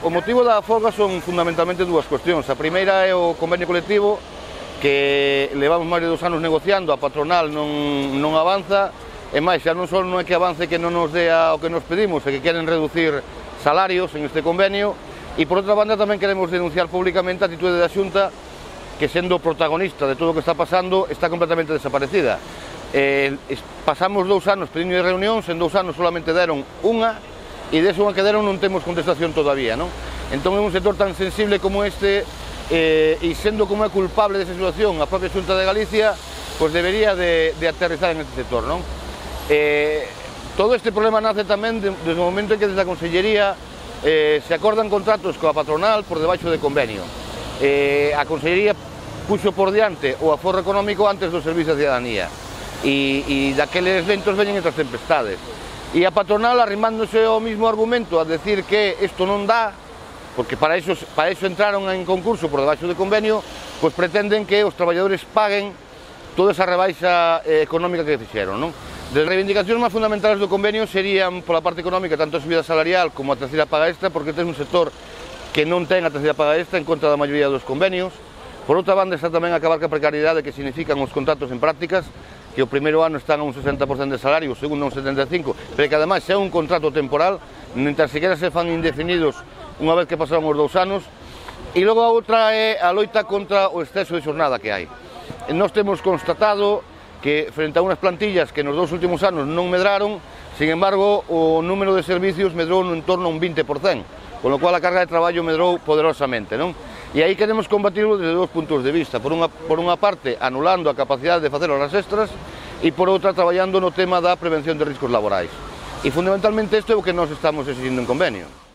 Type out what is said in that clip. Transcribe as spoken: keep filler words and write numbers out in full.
o motivo da folga son fundamentalmente dúas cuestións. A primeira é o convenio colectivo, que levamos máis de dos anos negociando, a patronal non, non avanza, e máis, xa non só non é que avance que non nos dea o que nos pedimos, é que queren reducir salarios en este convenio, e por outra banda tamén queremos denunciar públicamente a atitude da Xunta, que sendo protagonista de todo o que está pasando, está completamente desaparecida. Eh, pasamos dous anos pedindo de reunións, en dous anos solamente deron unha, e desa unha que deron non temos contestación todavía, non? Entón é un sector tan sensible como este, eh, e sendo como é culpable desa situación a propia Xunta de Galicia, pois debería de, de aterrizar en este sector, non? Eh, todo este problema nace tamén de, desde o momento en que desde a Consellería eh, se acordan contratos coa patronal por debaixo de convenio. Eh, a Consellería puxo por diante o aforro económico antes do servicio de ciudadanía, e, e daqueles ventos veñen entre as tempestades. E a patronal, arrimándose ao mismo argumento a decir que isto non dá, porque para eso, para eso entraron en concurso por debaixo de convenio, pois pretenden que os traballadores paguen toda esa rebaixa eh, económica que fixeron, non? As reivindicacións máis fundamentales do convenio serían, pola parte económica, tanto a subida salarial como a terceira paga extra, porque ten un sector que non ten a terceira paga extra en contra da maioría dos convenios. Por outra banda está tamén acabar ca precariedade que significan os contratos en prácticas, que o primeiro ano están a un sesenta por cento de salario, o segundo a un setenta e cinco por cento, pero que ademais é un contrato temporal, mentras sequera se fan indefinidos unha vez que pasaron os dous anos. E logo a outra é a loita contra o exceso de xornada que hai. Nós temos constatado que frente a unhas plantillas que nos dous últimos anos non medraron, sin embargo, o número de servicios medrou en torno a un vinte por cento, con lo cual a carga de traballo medrou poderosamente, non? E aí queremos combatirlo desde dous puntos de vista. Por unha, por unha parte, anulando a capacidade de facer horas extras, e por outra, traballando no tema da prevención de riscos laborais. E fundamentalmente isto é o que nós estamos exigindo en convenio.